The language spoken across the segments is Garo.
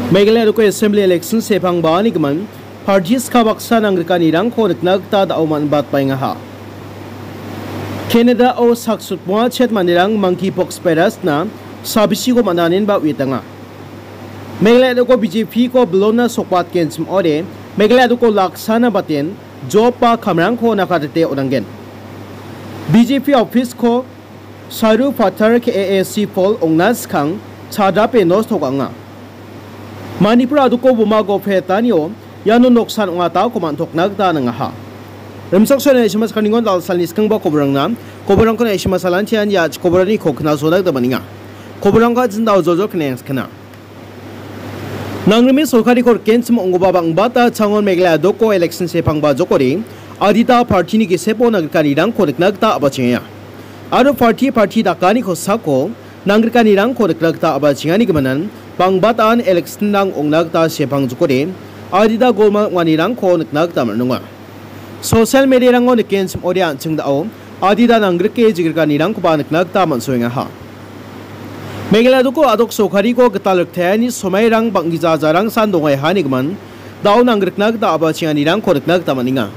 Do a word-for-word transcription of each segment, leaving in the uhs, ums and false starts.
Meghalaya doko Assembly election sepangbaanigimin party ska baksa nanggrikanirangko nikna gita da·o man·batbaengaha. Canada-o sak sotmoa chet manderang monkeypox virus-na sabisiko man·anenba uietanga. Meghalaya doko B J P-ko bilona sokbatgenchim ode, Meghalaya doko laksana baten job ba kamrangko nakatete on·angen. B J P office-ko saru patar K A A C pol ong·na skang chadrape nosto ka·enga. Manipur adoko boma gophetanio iano noksan ong·atako man·tokna gita nangaha. Rimchaksoani S M S kaningon dalsalni skangba koborangna, koborangkon S M S alantian ia koborani kokna soda gita maninga. Koborangka jinda ojojo kene skena. Nangrime sorkari korkenchim ong·gipa bang·bata changon Meghalaya doko election sepangba jokode, adita party-ni gisepo nangrikanirangko nikna gita a·bachenga. Aro party, party dakani kosako nangrikanirangko nikna gita a·bachengani gimin, bang·bataan election-rang ong·na gita sepang jokode, adita golmal ong·anirangko nikna gita man·enga. Social media-rango nikenchim ode an·ching da·o, adita nanggrike jigrikanirangkoba nikna gita man·soengaha. Meghalaya doko adok sorkariko gital riktaeni somairang bang·gija jarangsan dongaiha nigimin, da·o nangrikna gita a·bachenganirangko nikna gita man·enga.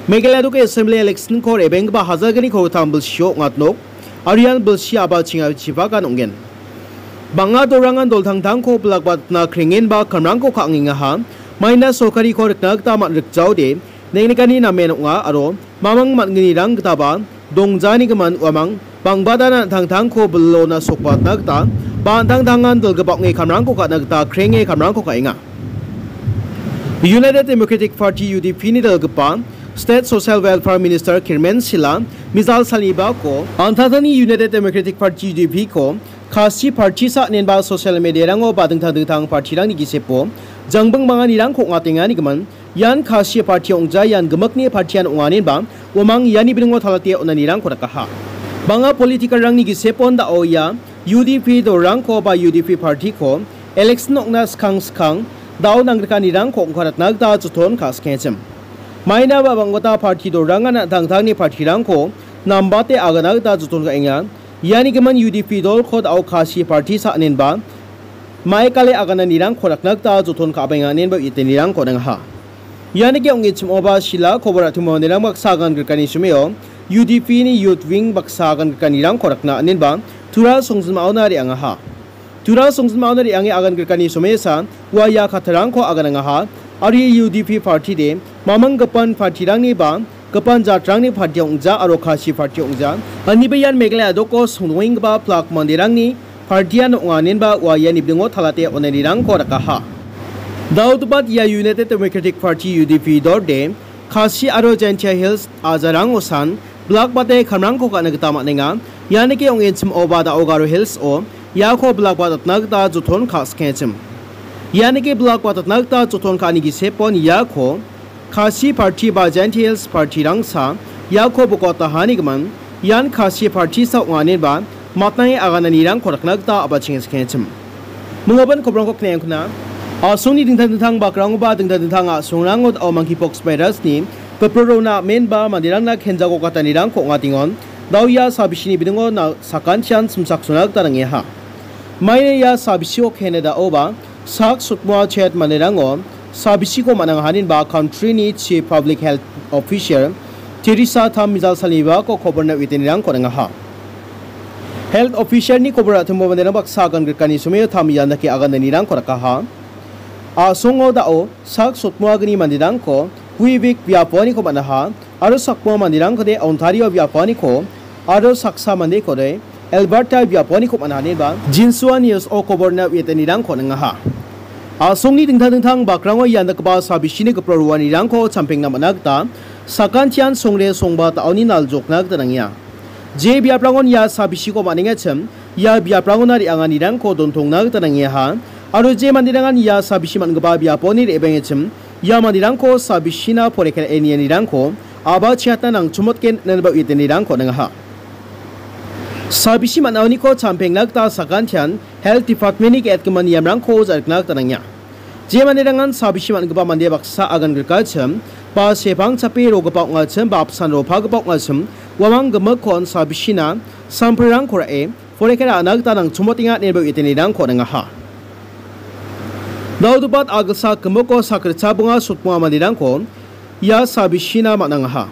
Meghalaya doko Assembly election-ko rebenggipa hajalgni kolgittam bilsio ong·atnok, aro ian bilsi a·bachengachipakan ong·gen. Bang·a dorangan doltangtangko bilakbatna krengenba kamrangko ka·angengaha, maina sorkariko rikna gita man·rikjaode, neng·nikani namen ong·a aro mamang man·gnirang gitaba dongjanigimin uamang bang·badana an·tangtangko bilona sokbatna gita ba an·tangtangan dilgipa ong·e kamrangko ka·na gita krenge kamrangko ka·enga. United Democratic Party, U D P-ni dilgipa State Social Welfare Minister Kirmen Sila mijal salibako an·tangtangni United Democratic Party, U D P-ko Khasi party sa·nenba social media-rango ba dingtang dingtang party-rangni gisepo jangbing manganirangko ong·atenganigimin, ian Khasi party ong·ja, ian gimikni party-an ong·anenba, uamang iani bilingo talate on·anirangko dakaha. Bang·a political-rangni gisepon da·o ia U D P dolrangko ba U D P party-ko election ong·na skang skang da·o nangrikanirangko ong·karatna gita joton ka·sikengachim. Maina ba bang·gita party dolrangan an·tangtangni party-rangko nambate agana gita joton ka·enga. Iani gimin U D P dolko da·o Khasi party sa·anenba, maikale agananirangko rakna gita joton ka·benga inenba u·etanirangko on·engaha. Ianike ong·e chim·oba sila kobor a·timo manderang baksa agan grikani someo U D P-ni youth wing baksa agan grikanirangko rakna inenba tura songjinmaona re·angaha. Tura songjinmaona re·ange agan grikani somesa ua ia kattarangko aganangaha, aro ia U D P party-de mamang gipan party-rangni ba gipan jatrangni party ong·ja aro Khasi party ong·ja. Aniba ian Meghalaya doko songdongenggipa plak manderangni party-an ong·a inenba ua iani bilingo talate on·anirangko dakaha. Daodubat ia United Democratic Party, U D P dorde, Khasi aro Jaintia Hills ajarang osan, bilakbate kamrangko ka·na gita man·enga. Ianike ong·e chim·oba da·o Garo Hills-o iako bilakbatatna gita joton ka·sikengachim. Ianike bilakbatatna gita joton ka·ani gisepon iako Khasi party ba Jaintia Hills party-rangsa iako bokotahani gimin, ian Khasi party-sa ong·a inenba matnange agananirangko rakna gita a·bachenga sekengachim. Minggipa kobrangko knengkuna. A·songni dingtang dingtang bakrangoba dingtang dingtang a·songrango da·o monkeypox virus-ni gipro rona amenba manderangna kenjako katanirangko ong·atengon. Da·o ia sabisini bilingo na-, sakantian simsaksona gita nangeha. Maina ia sabisio Canada-oba sak sotmoa chet manderango sabisiko man·angaha inenba country-ni Chief Public Health Officer Teresa Tam mijal salibako koborna u·etanirangko on·engaha. Health Officer-ni kobor a·timo manderang baksa agan grikani someo Tam ian dake agananirangko dakaha. A·songo da·o sak sotmoagni manderangko Quebec biaponiko man·aha, aro sakbonga manderangkode Ontario biaponiko, aro saksa mandekode Alberta biaponiko man·aha ineba Jinsuan News-o koborna u·etanirangko on·engaha. A·songni dingtang dingtang bakrango ian dakgipa sabisini gipro roanirangko champengna man·a gita sakantian songre songba da·oni naljokna gita nangenga. Je biaprangon ia sabisiko man·engachim, ia biaprangona re·anganirangko dontongna gita nangeaha. Aro je manderangan ia sabisi man·gipa biaponi re·bengachim, ia manderangko sabisina porikera enianirangko a·bachengatna nangchomotgen ineba u·etanirangko on·engaha. Sabisi man·aoniko champengna gita sakantian Health Department-ni ge·etgimin niamrangko ja·rikna gita nangenga. Je manderangan sabisi man·gipa mande baksa agan grikachim, ba sepang chape rogipa ong·achim, ba apsan ropagipa ong·achim, uamang gimikkon sabisina samprerangko ra·e, porikera ra·na gita nangchomotenga ineba u·etanirangko on·engaha. Daodopat agilsa kimoko sakritcha bonga sotbonga manderangko ia sabisina man·angaha.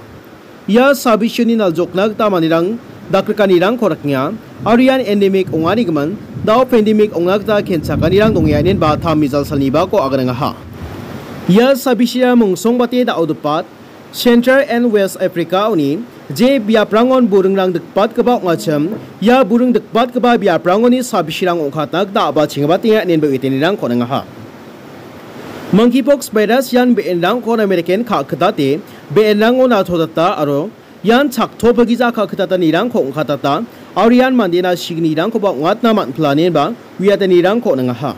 Ia sabisini naljokna gita manderang dakrikanirangko rikenga, aro ian endemic ong·anigimin dao pandemic ong·na gita kenchakanirang dongenga inenba tam mijal salnibako aganangaha. Ia sabisina mungsongbate Daodopat, Central and West Africa-oni je biaprangon buringrang dikbatgipa ong·achim, ia buring dikbatgipa biaprangoni sabisirang ong·katna gita a·bachengibatenga inenba uetenirangko ningaha. Monkeypox virus ian be·enrangko American ka·kitate, be·enrango natodata aro ian chakto pagija ka·kitatanirangko ong·katata, aro ian mandena signirangkoba ong·atna man·pila inenba uiatanirangko ningaha.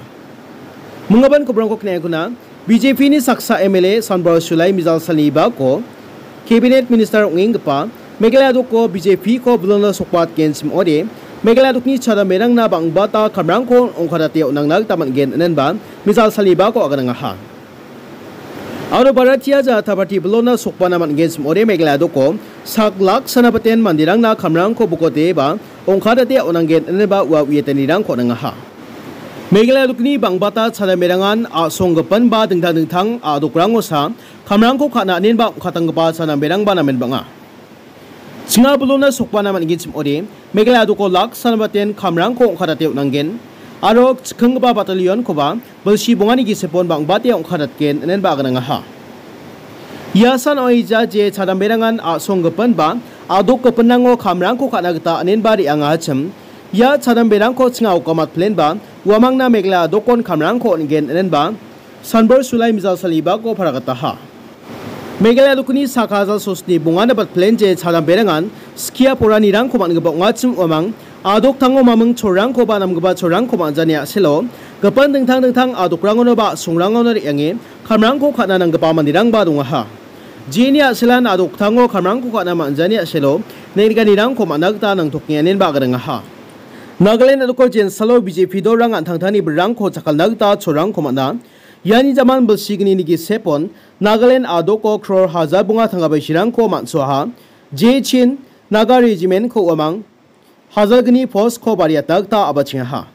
Minggipa kobrangko kneakuna B J P-ni saksa M L A Sanbor Sulai mijal salnibako Cabinet Minister ong·enggipa Meghalaya doko B J P-ko bilona sokbatgenchim ong·ode, Meghalaya dokni chadamberangna bang·bata kamrangko ong·katate on·angna gita man·gen inenba mijal salnibako aganangaha. Aro Bharatiya Janata Party bilona sokbana man·genchim ong·ode Meghalaya doko sak lak sanabaten manderangna kamrangko bokoteba ong·katate on·anggen inenba ua uetanirangko ningaha. Meghalaya dokni bang·bata chadamberangan a·songgipan ba dingtang dingtang a·dokrangosa kamrangko ka·na inenba ong·katanggipa chadamberangba namen bang·a. Chinga bilona sokbana man·genchim ong·ode, Meghalaya doko lak sanabaten kamrangko ong·katate on·anggen, aro chikinggipa batalionkoba bilsi bongani gisepon bang·bate ong·katatgen inenba aganangaha. Ia san oija je chadamberangan a·songgipan ba a·dokgipanrango kamrangko ka·na gita inenba re·angachim, ia chadamberangko chinga okamatplenba uamangna Meghalaya dokon kamrangko on·gen inenba Sanbor Sulai mijal salnibako paragataha. Meghalaya dokni sak hajal sosni bongana batplen je chadamberangan skia poranirangko man·gipa ong·achim uamang, a·doktango maming cholrangkoba namgipa cholrangko man·jani a·selo, gipin dingtang dingtang a·dokrangonoba a·songrangono re·ange kamrangko ka·na nanggipa manderangba dongaha. Jeni a·selan a·doktango kamrangko ka·na man·jani a·selo, neng·rikanirangko man·a gita nangtokenga inenba aganangaha. Nagaland a·doko jensalo B J P dolrang an·tangtangni bilrangko jakkalna gita cholrangko man·a. Iani jaman bilsignini gisepon Nagaland a·doko crore hajar bonga tangka baisirangko man·soaha. Jechin Naga Regiment-ko uamang hajalgni post-ko bariatna gita a·bachengaha.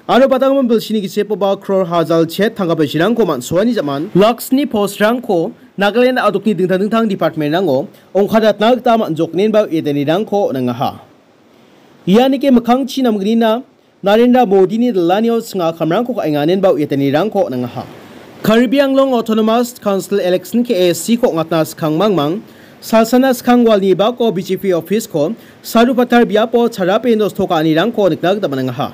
Aro batanggimin bilsini gisepoba crore hajal chet tangka baisirangko man·soani jaman laksni post-rangko Nagaland a·dokni dingtang dingtang department-rango ong·katatna gita man·joknenba uedanirangko on·angaha. Ianike mikkangchi namgnina Narendra Modini dilanio chinga kamrangko ka·enga inenba uedanirangko on·angaha. Karbi Anglong Autonomous Council Election K A A C-ko ong·atna skang mangmang, salsana skang walni bako B J P office-ko Sarupathar biapo charape nosto ka·anirangko nikna gita man·angaha.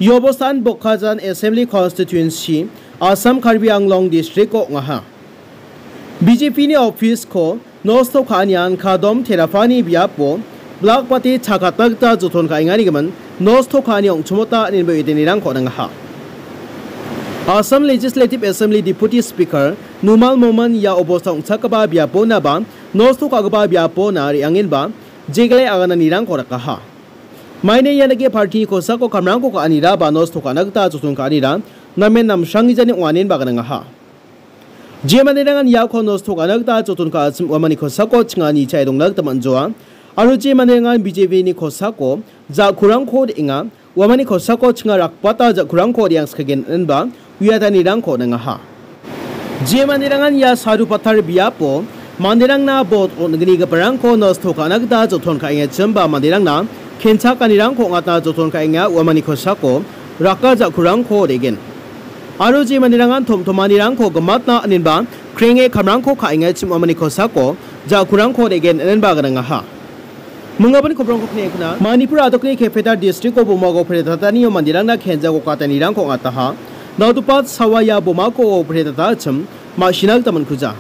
Ia obostan Bokajan Assembly Constituency, Assam Karbi Anglong District-o ong·aha. B J P-ni office-ko nosto ka·anian Kadom Terapani biapo blak bate chakatna gita joton ka·engani gimin nosto ka·ani ong·chimota inenba uedanirangko on·angaha. Assam Legislative Assembly Deputy Speaker Numal Momin ia obosta ong·chakgipa biaponaba nosto ka·gipa biapona re·angenba jegle agananirangko rakaha. Maina ianike party-ni kosako kamrangko ka·anira ba nosto ka·na gita joton ka·anira namen namsranggijani ong·anenba aganangaha. Je manderangan iako nosto ka·na gita joton ka·achim uamani kosako chingani chae dongna gita man·joa. Aro je manderangan B J P-ni kosako ja·kurangko re·enga, uamani kosako chinga rakbata ja·kurangko re·angskagen inenba uiatanirangko on·angaha. Je manderangan ia Sarupathar biapo manderangna bot on·gnigiparangko nosto ka·na gita joton ka·engachimba manderangna kenchakanirangko ong·atna joton ka·enga uamani kosako raka ja·kurangko re·gen. Aro je manderangan tom·tomanirangko gimatna inenba krenge kamrangko ka·engachim uamani kosako ja·kurangko re·gen inenba aganangaha. Minggipa kobrangko kneakuna Manipur a·dokni capital district-o bomako pre·tatanio manderangna kenjako katanirangko ong·ataha. Naudupat sawa ia bomako pre·tatachim ma·sina gita man·kuja.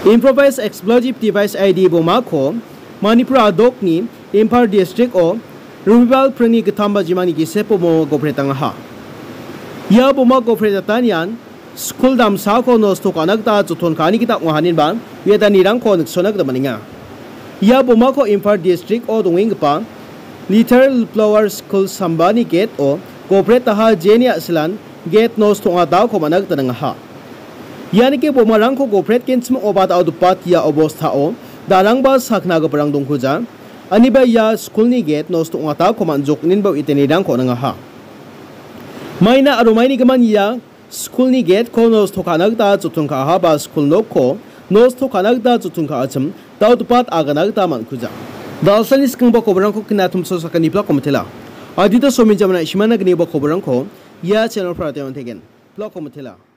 Improvised explosive device I D bomako Manipur a·dokni Imphal district-o Robibal pringni gittam bajimani gisepo bomako pre·tangaha. Ia bomako pre·tatanian skul damsako nosto ka·na gita joton ka·ani gita ong·a, inenba uiatanirangko niksona gita man·enga. Ia bomako Imphal district-o dongenggipa Little Flower School sambani gate-o gopretaha, jeni a·silan gate nosto ong·atako man·a gita nangaha. Ianike bomarangko gopretgenchim ong·oba da·odopat ia obostao darangba sakna giparang dongkuja. Aniba ia skulni gate nosto ong·atako man·jok, inenba uiatanirangko nangaha. Maina aro maini gimin ia Skulni gate-ko nosto ka·na gita jottong ka·aha ba skul nokko nosto ka·na gita jottong ka·achim, dao·dipat agana gita man·kuja. Dalsani skangba koborangko kina tumso sakani blako mitela. Adita somin jamana isimana gniba koborangko ia channel-para teng·on tegen. Blako mitela.